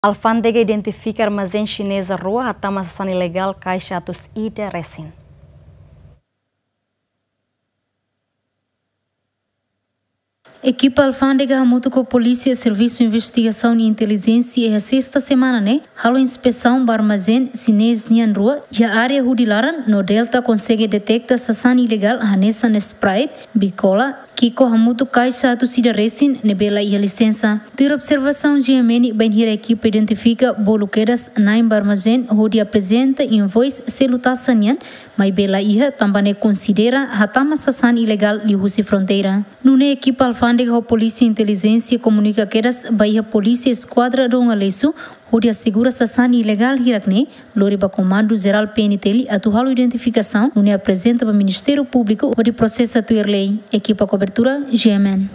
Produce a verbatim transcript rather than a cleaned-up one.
Alfándega identifika armazén xineza rua hatama sasán ilegál kaixa atus ida resin. Ekipa alfándega hamutuk ho polísia, servisu investigasaun i intelijénsia iha sesta semana ne'e halo inspesaun ba armazén xinez nian rua iha área hudi laran, no Delta konsege deteta sasán ilegál hanesan Sprite, Bicola, Kiko hamutuk kaixa atus ida resin ne'ebé la iha lisensa. Tuir observasaun G M N, bainhira ekipa identifika bolu kedas na'in ba armazén hodi aprezenta invoice selu taxa nian, maibé la iha, tanba ne'e konsidera hatama sasán ilegál liuhusi fronteira. Nune'e ekipa alfándega ho polísia intelijénsia komunika kedas ba iha polísia eskuadra Dom Aleixo hodi asegura sasán ilegál hirak ne'e lori ba Komandu Jerál P N T L atu halo identifikasaun, nune'e aprezenta ba Ministériu Públiku hodi prosesa tuir lei. Ekipa kobertura, G M N.